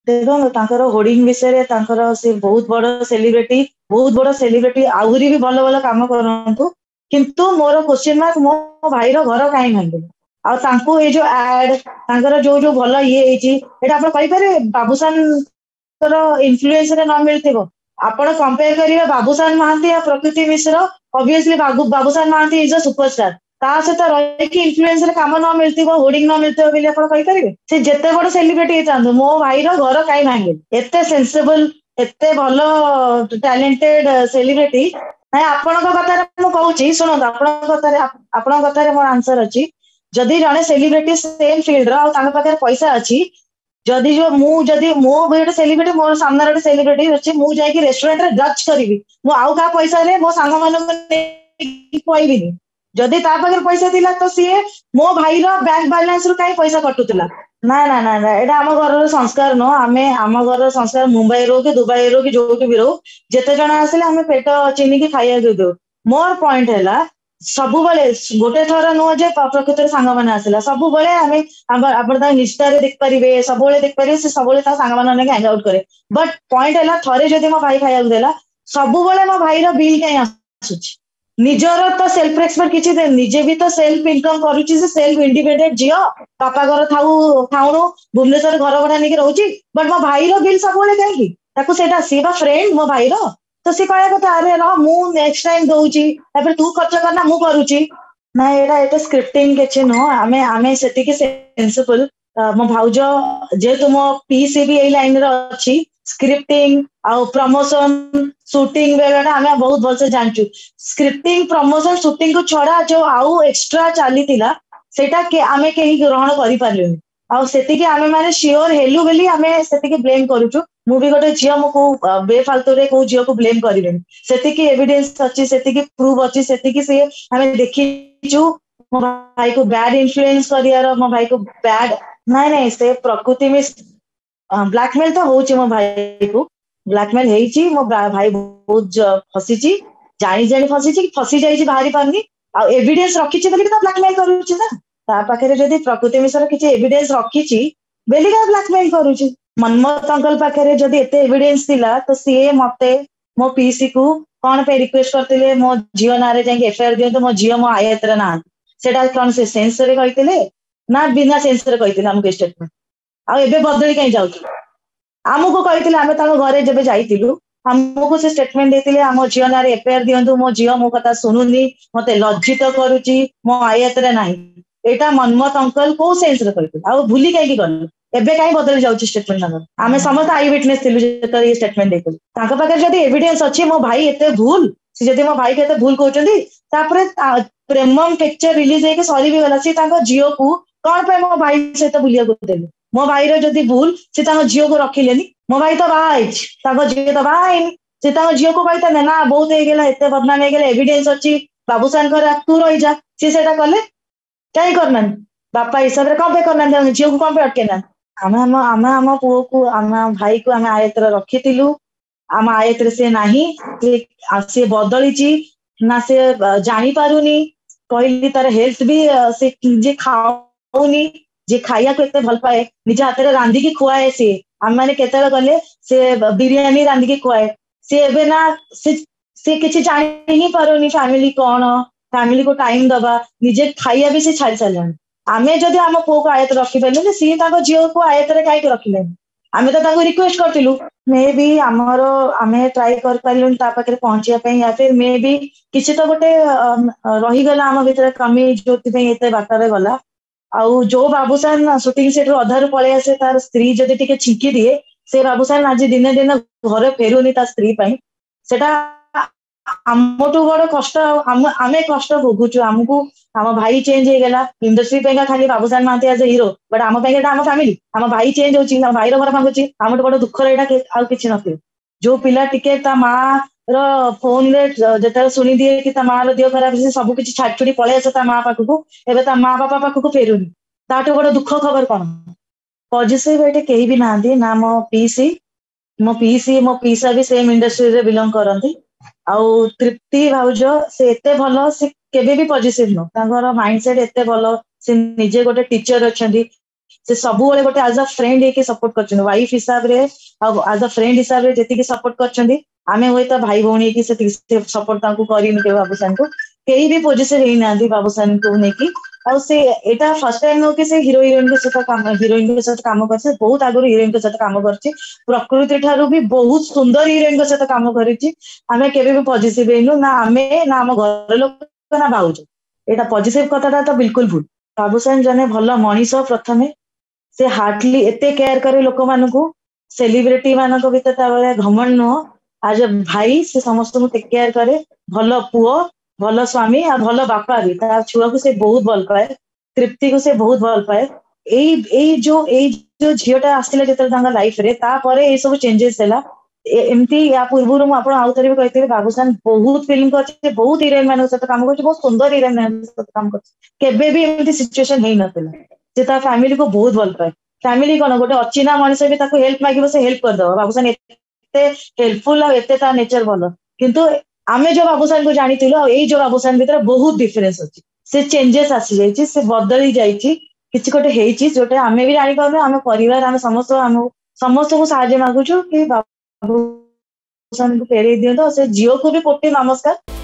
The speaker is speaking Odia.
ଦେଖନ୍ତୁ, ତାଙ୍କର ହୋର୍ଡିଂ ବିଷୟରେ, ତାଙ୍କର ସେ ବହୁତ ବଡ ସେଲିବ୍ରିଟି, ବହୁତ ବଡ ସେଲିବ୍ରିଟି, ଆହୁରି ବି ଭଲ ଭଲ କାମ କରନ୍ତୁ। କିନ୍ତୁ ମୋର କ୍ୱେଶ୍ଚିନ୍ ମାର୍କ, ମୋ ଭାଇର ଘର କାହିଁ ଭାଙ୍ଗିଲେ? ଆଉ ତାଙ୍କୁ ଏଇ ଯୋଉ ଆଡ, ତାଙ୍କର ଯୋଉ ଯୋଉ ଭଲ ଇଏ ହେଇଛି, ଏଇଟା ଆପଣ କହିପାରିବେ ବାବୁସାନଙ୍କର ଇନଫ୍ଲୁଏନ୍ସ ରେ ନ ମିଳିଥିବ? ଆପଣ କମ୍ପେୟାର କରିବେ ବାବୁସାନ ମହାନ୍ତି ଆଉ ପ୍ରକୃତି ମିଶ୍ର, ଅବଭିୟସଲି ବାବୁସାନ ମହାନ୍ତି is ଅ ସୁପରଷ୍ଟାର। ତା ସହିତ ରହିକି ଇନଫ୍ଲୁଏନ୍ସ ରେ କାମ ନ ମିଳିଥିବ, ହୋର୍ଡିଂ ନ ମିଳିଥିବ ବୋଲି ଆପଣ କହିପାରିବେ? ସେ ଯେତେ ବଡ ସେଲିବ୍ରିଟି ହେଇଥାନ୍ତୁ, ମୋ ଭାଇର ଘର କାହିଁ ଭାଙ୍ଗିଲେ? ଏତେ ସେନ୍ସିବଲ, ଏତେ ଭଲ ଟ୍ୟାଲେଣ୍ଟେଡ ସେଲିବ୍ରିଟି। ନାଇଁ, ଆପଣଙ୍କ କଥାରେ ମୁଁ କହୁଛି, ଶୁଣନ୍ତୁ, ଆପଣଙ୍କ କଥାରେ ମୋର ଆନ୍ସର ଅଛି। ଯଦି ଜଣେ ସେଲିବ୍ରିଟି ସେମ୍ ଫିଲ୍ଡ ର ଆଉ ତାଙ୍କ ପାଖରେ ପଇସା ଅଛି, ଯଦି ଯୋଉ ମୁଁ ଯଦି ମୋ ଗୋଟେ ସେଲିବ୍ରିଟି, ମୋର ସାମ୍ନାରେ ଗୋଟେ ସେଲିବ୍ରିଟି ଅଛି, ମୁଁ ଯାଇକି ରେଷ୍ଟୁରାଣ୍ଟରେ ଜଜ୍ କରିବି, ମୁଁ ଆଉ କାହା ପଇସାରେ ମୋ ସାଙ୍ଗମାନଙ୍କୁ ନେଇକି ଖୁଆଇବିନି। ଯଦି ତା ପାଖରେ ପଇସା ଥିଲା, ତ ସିଏ ମୋ ଭାଇର ବ୍ୟାଙ୍କ ବାଲାନ୍ସ ରୁ କାହିଁ ପଇସା କଟୁଥିଲା? ନା ନା ନା ନା, ଏଇଟା ଆମ ଘରର ସଂସ୍କାର ନୁହଁ। ଆମେ ଆମ ଘରର ସଂସ୍କାର, ମୁମ୍ବାଇ ରହୁ କି ଦୁବାଇ ରହୁ କି ଯୋଉଠି ବି ରହୁ, ଯେତେ ଜଣ ଆସିଲେ ଆମେ ପେଟ ଚିନିକି ଖାଇବାକୁ ଦଉ। ମୋର ପଏଣ୍ଟ ହେଲା, ସବୁବେଳେ, ଗୋଟେ ଥର ନୁହଁ ଯେ ପ୍ରକୃତରେ ସାଙ୍ଗମାନେ ଆସିଲା, ସବୁବେଳେ ଆମେ ଆପଣ ତାଙ୍କ ଇନଷ୍ଟାରେ ଦେଖିପାରିବେ, ସବୁବେଳେ ଦେଖିପାରିବେ, ସେ ସବୁବେଳେ ତା ସାଙ୍ଗମାନଙ୍କ ନେଇକି ହ୍ୟାଙ୍ଗ ଆଉଟ୍ କରେ। ବଟ୍ ପଏଣ୍ଟ ହେଲା, ଥରେ ଯଦି ମୋ ଭାଇ ଖାଇବାକୁ ଦେଲା, ସବୁବେଳେ ମୋ ଭାଇର ବିଲ୍ କାହିଁ ଆସୁଛି? ନିଜର ତ ସେଲ୍ଫ ରେସ୍ପେକ୍ଟ କିଛି, ନିଜେ ବି ତ ସେଲ୍ଫ ଇନକମ କରୁଛି, ସେ ସେଲ୍ଫ ଇଣ୍ଡିପେଣ୍ଡେଣ୍ଟ ଝିଅ, ବାପା ଘର ଥାଉ ଥାଉଣୁ ଭୁବନେଶ୍ୱର ଘର ଭଡା ନେଇକି ରହୁଛି। ବଟ୍ ମୋ ଭାଇର ବିଲ୍ ସବୁବେଳେ କାହିଁକି? ତାକୁ ସେଇଟା, ସିଏ ବା ଫ୍ରେଣ୍ଡ ମୋ ଭାଇର, ତ ସିଏ କହିବା କଥା, ଆରେ ରହ, ମୁଁ ନେକ୍ସଟ ଟାଇମ ଦଉଛି, ତାପରେ ତୁ ଖର୍ଚ୍ଚ କରନା, ମୁଁ କରୁଛି। ନାଇଁ, ଏଇଟା ଏତେ ସ୍କ୍ରିପ୍ଟିଂ କିଛି ନୁହଁ। ଆମେ ସେତିକି ସେନ୍ସିବଲ। ମୋ ଭାଉଜ ଯେହେତୁ, ମୋ ପିସି ବି ଏଇ ଲାଇନରେ ଅଛି, ସ୍କ୍ରିପ୍ଟିଂ ଆଉ ପ୍ରମୋସନ ସୁଟିଂ ବେଳଟା ଆମେ ବହୁତ ଭଲସେ ଜାଣିଛୁ। ସ୍କ୍ରିପ୍ଟିଂ, ପ୍ରମୋସନ, ସୁଟିଂ କୁ ଛଡା ଯୋଉ ଆଉ ଏକ୍ସଟ୍ରା ଚାଲିଥିଲା, ସେଇଟା ଆମେ କେହି ଗ୍ରହଣ କରିପାରିଲୁନି। ଆଉ ସେତିକି ଆମେ ମାନେ ସିଓର ହେଲୁ ବୋଲି ଆମେ ସେତିକି ବ୍ଲେମ କରୁଛୁ। ମୁଁ ବି ଗୋଟେ ଝିଅ, ମୁଁ କୋଉ ବେଫାଲତୁରେ କୋଉ ଝିଅକୁ ବ୍ଲେମ କରିବିନି। ସେତିକି ଏଭିଡେନ୍ସ ଅଛି, ସେତିକି ପ୍ରୁଫ ଅଛି, ସେତିକି ସିଏ ଆମେ ଦେଖିଛୁ ମୋ ଭାଇକୁ ବ୍ୟାଡ ଇନଫ୍ଲୁଏନ୍ସ କରିବାର, ମୋ ଭାଇକୁ ବ୍ୟାଡ। ନାଇଁ ନାଇଁ, ସେ ପ୍ରକୃତି ମିସ୍ ବ୍ଲାକମେଲ ତ ହଉଛି, ମୋ ଭାଇକୁ ବ୍ଲାକମେଲ ହେଇଛି। ମୋ ଭାଇ ବହୁତ ଫସିଛି, ଜାଣି ଜାଣି ଫସିଛି, ଫସି ଯାଇଛି, ବାହାରି ପାରୁନି। ଆଉ ଏଭିଡେନ୍ସ ରଖିଛି ବୋଲି ତ ବ୍ଲାକମେଲ କରୁଛି ନା। ତା ପାଖରେ ଯଦି ପ୍ରକୃତି ମିଶ୍ର କିଛି ଏଭିଡେନ୍ସ ରଖିଛି ବେଲିକା ବ୍ଲାକମେଲ କରୁଛି। ମନ୍ମଥ ଅଙ୍କଲ ପାଖରେ ଯଦି ଏତେ ଏଭିଡେନ୍ସ ଥିଲା, ତ ସିଏ ମତେ, ମୋ ପିସି କୁ କଣ ପାଇଁ ରିକ୍ୱେଷ୍ଟ କରିଥିଲେ, ମୋ ଝିଅ ନାଁରେ ଯାଇକି ଏଫଆଇଆର ଦିଅନ୍ତୁ, ମୋ ଝିଅ ମୋ ଆୟତରେ ନାହାନ୍ତି? ସେଇଟା କଣ ସେ ସେନ୍ସରେ କହିଥିଲେ ନା ବିନା ସେନ୍ସରେ କହିଥିଲେ ଆମକୁ ଷ୍ଟେଟମେଣ୍ଟ? ଆଉ ଏବେ ବଦଳି କାହିଁ ଯାଉଛୁ? ଆମକୁ କହିଥିଲେ, ଆମେ ତାଙ୍କ ଘରେ ଯେବେ ଯାଇଥିଲୁ, ଆମକୁ ସେ ଷ୍ଟେଟମେଣ୍ଟ ଦେଇଥିଲେ, ଆମ ଝିଅ ନାଁରେ ଏଫଆଇଆର ଦିଅନ୍ତୁ, ମୋ ଝିଅ ମୋ କଥା ଶୁଣୁନି, ମତେ ଲଜ୍ଜିତ କରୁଛି, ମୋ ଆୟତରେ ନାହିଁ। ଏଇଟା ମନ୍ମଥ ଅଙ୍କଲ କୋଉ ସେନ୍ସରେ କହିଥିଲେ? ଆଉ ଭୁଲି କାହିଁକି ଗଲେ? ଏବେ କାହିଁ ବଦଳି ଯାଉଛି ଷ୍ଟେଟମେଣ୍ଟ ତାଙ୍କର? ଆମେ ସମସ୍ତେ I witness ଥିଲୁ ଯେତେବେଳେ ଏ ଷ୍ଟେଟମେଣ୍ଟ ଦେଇଥିଲୁ। ତାଙ୍କ ପାଖରେ ଯଦି ଏଭିଡେନ୍ସ ଅଛି ମୋ ଭାଇ ଏତେ ଭୁଲ, ସେ ଯଦି ମୋ ଭାଇକୁ ଏତେ ଭୁଲ କହୁଛନ୍ତି, ତାପରେ ପ୍ରେମମ ପିକ୍ଚର ରିଲିଜ ହେଇକି ସରି ବି ଗଲା, ସେ ତାଙ୍କ ଝିଅକୁ କଣ ପାଇଁ ମୋ ଭାଇ ସହିତ ବୁଲିବାକୁ ଦେଲେ? ମୋ ଭାଇର ଯଦି ଭୁଲ, ସେ ତାଙ୍କ ଝିଅକୁ ରଖିଲେନି। ମୋ ଭାଇ ତ ବାହା ହେଇଛି, ତାଙ୍କ ଝିଅ ତ ବାହା ହେଇନି। ସେ ତାଙ୍କ ଝିଅକୁ କହିଥାନ୍ତେ ନା, ବହୁତ ହେଇଗଲା, ଏତେ ବଦନାମ ହେଇଗଲା, ଏଭିଡେନ୍ସ ଅଛି, ବାବୁସାନଙ୍କର, ତୁ ରହିଯା। ସିଏ ସେଇଟା କଲେ କାହିଁ କରିନାହାନ୍ତି? ବାପା ହିସାବରେ କଣ ପାଇଁ କରିନାହାନ୍ତି? ତାଙ୍କ ଝିଅକୁ କଣ ପାଇଁ ଅଟକେଇ ନାହାନ୍ତି? ଆମେ ଆମ ପୁଅକୁ, ଆମ ଭାଇକୁ ଆମେ ଆୟତରେ ରଖିଥିଲୁ। ଆମ ଆୟତରେ ସେ ନାହିଁ। ସେ ବଦଳିଛି ନା ସେ ଜାଣିପାରୁନି। କହିଲି, ତାର ହେଲ୍ଥ ବି ସେ ନିଜେ ଖାଉନି, ଯିଏ ଖାଇବାକୁ ଏତେ ଭଲ ପାଏ, ନିଜ ହାତରେ ରାନ୍ଧିକି ଖୁଆଏ ସିଏ। ଆମେ ମାନେ କେତେବେଳେ ଗଲେ ସେ ବିରିୟାନୀ ରାନ୍ଧିକି ଖୁଆଏ। ସିଏ ଏବେ ନା ସେ କିଛି ଜାଣି ହିଁ ପାରୁନି ଫ୍ୟାମିଲି କଣ, ଫ୍ୟାମିଲିକୁ ଟାଇମ ଦବା, ନିଜେ ଖାଇବା ବି ସେ ଛାଡି ସାରିଲାଣି। ଆମେ ଯଦି ଆମ ପୁଅକୁ ଆୟତରେ ରଖିପାରିଲୁନି, ସିଏ ତାଙ୍କ ଝିଅକୁ ଆୟତରେ କାହିଁକି ରଖିଲେନି? ଆମେ ତ ତାଙ୍କୁ ରିକ୍ୱେଷ୍ଟ କରିଥିଲୁ। ମେ ବି ଆମର ଆମେ ଟ୍ରାଏ କରିପାରିଲୁନି ତା ପାଖରେ ପହଞ୍ଚିବା ପାଇଁ, ୟା ଫିର ମେ ବି କିଛି ତ ଗୋଟେ ରହିଗଲା ଆମ ଭିତରେ କମି, ଯୋଉଥିପାଇଁ ଏତେ ବାଟରେ ଗଲା। ଆଉ ଯୋଉ ବାବୁସାନ ସୁଟିଂ ସେଟ୍ ରୁ ଅଧାରୁ ପଳେଇ ଆସେ ତାର ସ୍ତ୍ରୀ ଯଦି ଟିକେ ଛିଙ୍କି ଦିଏ, ସେ ବାବୁସାନ ଆଜି ଦିନେ ଦିନେ ଘରେ ଫେରୁନି ତା ସ୍ତ୍ରୀ ପାଇଁ। ସେଟା ଆମଠୁ ବଡ କଷ୍ଟ, ଆମେ କଷ୍ଟ ଭୋଗୁଛୁ। ଆମକୁ ଆମ ଭାଇ ଚେଞ୍ଜ ହେଇଗଲା। ଇଣ୍ଡଷ୍ଟ୍ରି ପାଇଁକା ଖାଲି ବାବୁସାନ ମହାନ୍ତି ଆଜ ହିରୋ, ବଟ୍ ଆମ ପାଇଁ ଏଇଟା ଆମ ଫ୍ୟାମିଲି। ଆମ ଭାଇ ଚେଞ୍ଜ ହଉଛି, ଆମ ଭାଇର ଘର ଭାଙ୍ଗୁଛି, ଆମଠୁ ବଡ ଦୁଃଖର ଏଇଟା ଆଉ କିଛି ନଥିବ। ଯୋଉ ପିଲା ଟିକେ ତା ମା ର ଫୋନରେ ଯେତେବେଳେ ଶୁଣିଦିଏ କି ତା ମା ର ଦେହ ଖରାପ, ସେ ସବୁ କିଛି ଛାଡି ଛୁଡି ପଳେଇ ଆସେ ତା ମା ପାଖକୁ, ଏବେ ତା ମା ବାପା ପାଖକୁ ଫେରୁନି। ତାଠୁ ବଡ ଦୁଃଖ ଖବର କଣ? ପଜିଟିଭ ଏଠି କେହି ବି ନାହାନ୍ତି। ନା ମୋ ପିସି, ମୋ ପିସି ମୋ ପିସା ବି ସେମ ଇଣ୍ଡଷ୍ଟ୍ରିରେ ବିଲଙ୍ଗ କରନ୍ତି। ଆଉ ତୃପ୍ତି ଭାଉଜ, ସେ ଏତେ ଭଲ, ସେ କେବେ ବି ପଜିଟିଭ ନୁହଁ। ତାଙ୍କର ମାଇଣ୍ଡ ସେଟ ଏତେ ଭଲ, ସେ ନିଜେ ଗୋଟେ ଟିଚର ଅଛନ୍ତି। ସେ ସବୁବେଳେ ଗୋଟେ ଆଜ ଅ ଫ୍ରେଣ୍ଡ ହେଇକି ସପୋର୍ଟ କରିଛନ୍ତି, ୱାଇଫ ହିସାବରେ ଆଉ ଆଜ ଅ ଫ୍ରେଣ୍ଡ ହିସାବରେ ଯେତିକି ସପୋର୍ଟ କରିଛନ୍ତି, ଆମେ ହୁଏତ ଭାଇ ଭଉଣୀ ହେଇକି ସେତିକି ସପୋର୍ଟ ତାଙ୍କୁ କରିନୁ କେବେ। ବାବୁସାନକୁ କେହି ବି ପୋଜିସନ ହେଇନାହାନ୍ତି ବାବୁସାନକୁ ନେଇକି। ଆଉ ସେ ଏଇଟା ଫାର୍ଷ୍ଟ ଟାଇମ ନୁହଁ କି ସେ ହିରୋ ହିରୋଇନଙ୍କ ସହିତ କାମ, ହିରୋଇନଙ୍କ ସହିତ କାମ କରିଛି। ବହୁତ ଆଗରୁ ହିରୋଇନଙ୍କ ସହିତ କାମ କରିଛି। ପ୍ରକୃତି ଠାରୁ ବି ବହୁତ ସୁନ୍ଦର ହିରୋଇନଙ୍କ ସହିତ କାମ କରିଛି। ଆମେ କେବେ ବି ପଜିଟିଭ ହେଇନୁ, ନା ଆମେ, ନା ଆମ ଘର ଲୋକ, ନା ଭାଉଜ। ଏଇଟା ପଜିଟିଭ କଥାଟା ତ ବିଲକୁଲ ଭୁଲ। ବାବୁସାନ ଜଣେ ଭଲ ମଣିଷ। ପ୍ରଥମେ ସେ ହାର୍ଟଲି ଏତେ କେୟାର କରେ ଲୋକମାନଙ୍କୁ, ସେଲିବ୍ରିଟି ମାନଙ୍କ ଭିତରେ ତା ଭଳିଆ ଘମଣ୍ଡ ନୁହଁ। ଆଜ ଏ ଭାଇ ସେ ସମସ୍ତଙ୍କୁ ଟେକ୍ କେୟାର କରେ। ଭଲ ପୁଅ, ଭଲ ସ୍ୱାମୀ ଆଉ ଭଲ ବାପା ବି। ତା ଛୁଆକୁ ସେ ବହୁତ ଭଲ ପାଏ, ତୃପ୍ତିକୁ ସେ ବହୁତ ଭଲ ପାଏ। ଏଇ ଯୋଉ ଝିଅଟା ଆସିଲା ଯେତେବେଳେ ତାଙ୍କ ଲାଇଫରେ, ତାପରେ ଏଇ ସବୁ ଚେଞ୍ଜେସ ହେଲା। ଏମିତି ୟା ପୂର୍ବରୁ ମୁଁ ଆପଣ ଆଉ ଥରେ ବି କହିଥିଲି, ବାବୁସାନ ବହୁତ ଫିଲ୍ମ କରିଛି, ବହୁତ ହିରୋଇନ ମାନଙ୍କ ସହିତ କାମ କରିଛି, ବହୁତ ସୁନ୍ଦର ହିରୋଇନ ମାନଙ୍କ ସହିତ କାମ କରିଛି। କେବେ ବି ଏମିତି ସିଚୁଏସନ ହେଇନଥିଲା। ସେ ତା ଫ୍ୟାମିଲିକୁ ବହୁତ ଭଲ ପାଏ। ଫ୍ୟାମିଲି କଣ, ଗୋଟେ ଅଚିହ୍ନା ମଣିଷ ବି ତାକୁ ହେଲ୍ପ ମାଗିବ, ସେ ହେଲ୍ପ କରିଦବ। ବାବୁସାନ ଏତେ ହେଲ୍ପଫୁଲ ଆଉ ଏତେ ତା ନେଚର ଭଲ। କିନ୍ତୁ ଆମେ ଯୋଉ ବାବୁସାନକୁ ଜାଣିଥିଲୁ ଆଉ ଏଇ ଯୋଉ ବାବୁସାନ ଭିତରେ ବହୁତ ଡିଫରେନ୍ସ ଅଛି। ସେ ଚେଞ୍ଜେସ ଆସିଯାଇଛି, ସେ ବଦଳି ଯାଇଛି, କିଛି ଗୋଟେ ହେଇଛି ଯୋଉଟା ଆମେ ବି ଜାଣିପାରୁନୁ। ଆମ ପରିବାର, ଆମେ ସମସ୍ତ, ଆମ ସମସ୍ତଙ୍କୁ ସାହାଯ୍ୟ ମାଗୁଛୁ କି ବାବୁସାନକୁ ଫେରେଇ ଦିଅନ୍ତୁ, ଆଉ ସେ ଝିଅକୁ ବି କୋଟି ନମସ୍କାର।